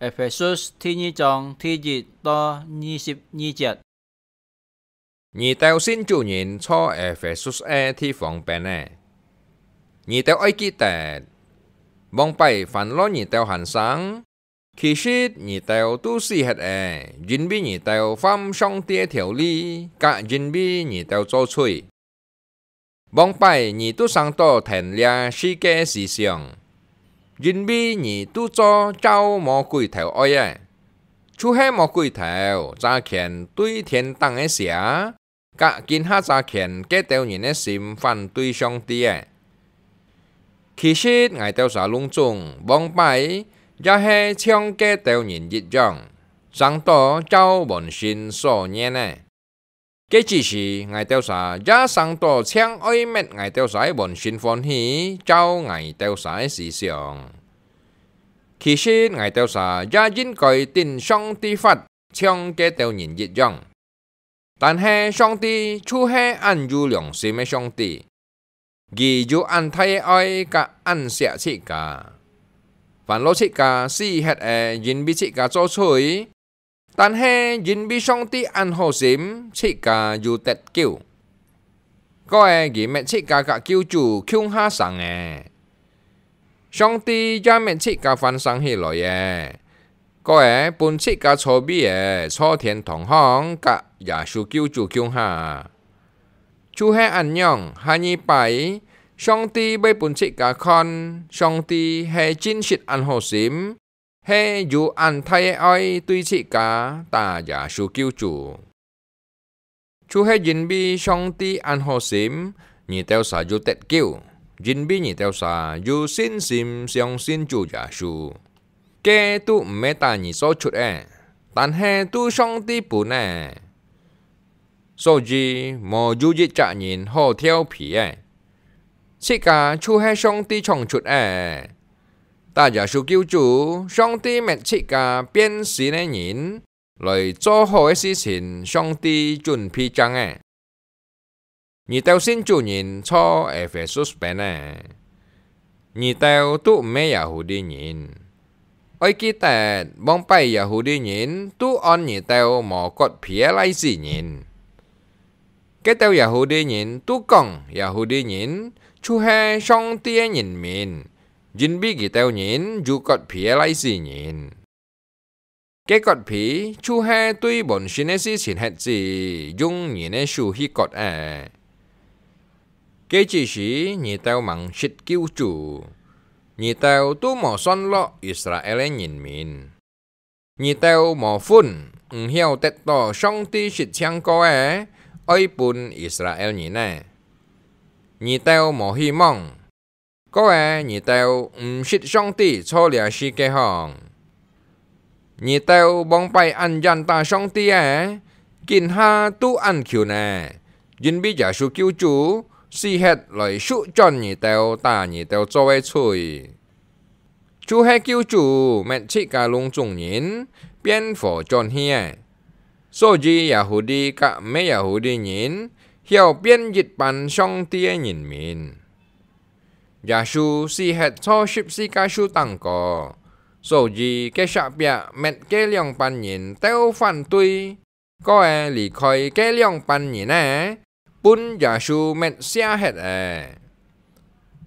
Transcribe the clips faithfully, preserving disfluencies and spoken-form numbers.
Ephesus第二章第一到二十二節。你兜信主人在Ephesus个地方邊仔，你兜愛記得，往擺煩惱你兜還生，其實你兜都死忒了，因為你兜犯上帝个條例，甲因為你兜做罪。 往擺你都生到跈這世界思想，因為你都做照魔鬼頭愛个，就係魔鬼頭差遣對天頂个邪，甲今下差遣該兜人个心反對上帝个。其實𠊎兜儕攏總往擺也係像該兜人一樣，生到照本性所願个。 該之時，𠊎兜儕也生到淨愛搣𠊎兜儕个本性歡喜，照𠊎兜儕个思想。其實𠊎兜儕也應該頂上帝發，像該兜人一樣。但係上帝就係恁有良心个上帝， 佢有恁大个愛甲恁惜自家。煩惱自家死忒了，因為自家做罪，但係因為上帝恁好心，自家有得救。過仔佢搣自家甲救主共下生个。上帝也搣自家翻生起來个，過仔分自家坐位仔坐天堂項甲耶穌救主共下。 就係恁樣，下二擺，上帝會分自家看，上帝係真實恁好心，係有恁大个愛對自家，打耶穌救主。就係因為上帝恁好心，你兜儕有得救，因為你兜儕有信心相信主耶穌。 該都毋係打你做出个，但係都上帝分个。所以無有一隻人好跳皮个，自家就係上帝創出个。打耶穌救主，上帝搣自家變新个人，來做好个事情，上帝準備正个。 你兜信主人在Ephesus邊仔，你兜都毋係Yahudi人。愛記得，往擺Yahudi人都安你兜無割皮个倈仔人。該兜Yahudi人都講Yahudi人就係上帝个人民，因為佢兜人有割皮个倈仔人。 該割皮就係對本身个事情核子，用人个手去割个。該之時，你兜吂識救主，你兜都無算落Israel个人民。你兜無份，毋曉得到上帝實淨過个，愛分Israel人个。你兜無希望， 過仔你兜毋識上帝在這世界項。你兜往擺恁遠打上帝个，今下都恁近呢，因為耶穌救主死忒來贖轉你兜打你兜做个罪。就係救主搣自家攏總人變活轉去个，所以Yahudi甲毋係Yahudi人曉變一班上帝个人民。 耶穌死忒在十字架樹頂高，所以該石壁搣該兩班人鬥反對，過仔離開該兩班人仔，分耶穌搣卸忒了。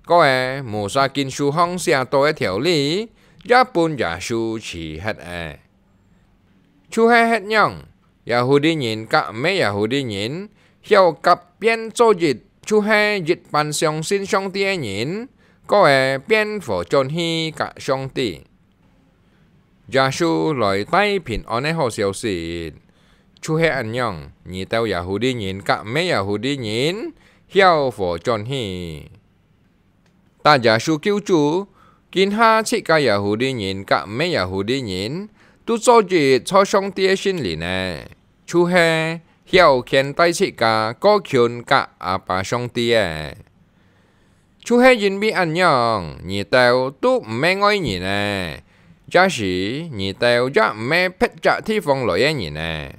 過仔Moses經書項寫到个條例，也分耶穌取忒了。 就係歇仰，Yahudi人甲毋係Yahudi人，曉合變做一，就係一班相信上帝个人，過仔變活轉去甲上帝。耶穌來帶平安个好消息，就係恁樣，你兜Yahudi人甲毋係Yahudi人，曉活轉去。 打耶穌救主，今下自家Yahudi人甲毋係Yahudi人，都做一在上帝个聖靈呢，就係曉牽帶自家過近甲阿爸上帝个。就係因為恁樣，你兜都毋係外人呢，這時你兜也毋係別隻地方來个人呢。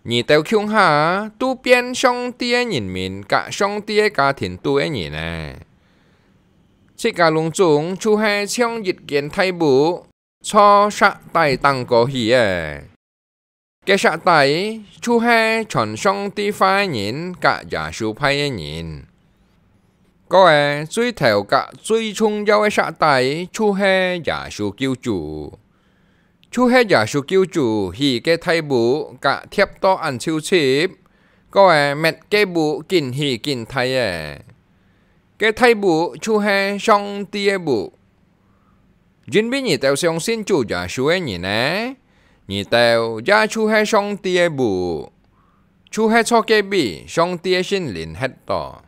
你兜共下都變上帝个人民甲上帝个家庭肚个人呢。自家攏總就係像一間大屋，坐石碓頂高去个。該石碓就係傳上帝話个人佮耶穌派个人。該最頭佮最重要个石碓就係耶穌救主。就係耶穌救主起該大屋佮貼到恁臭葶，該搣該屋緊起緊大个。該大屋就係上帝个屋。因為你兜相信主耶穌个人呢，你兜也就係上帝个屋，就係坐該位上帝个聖靈歇到。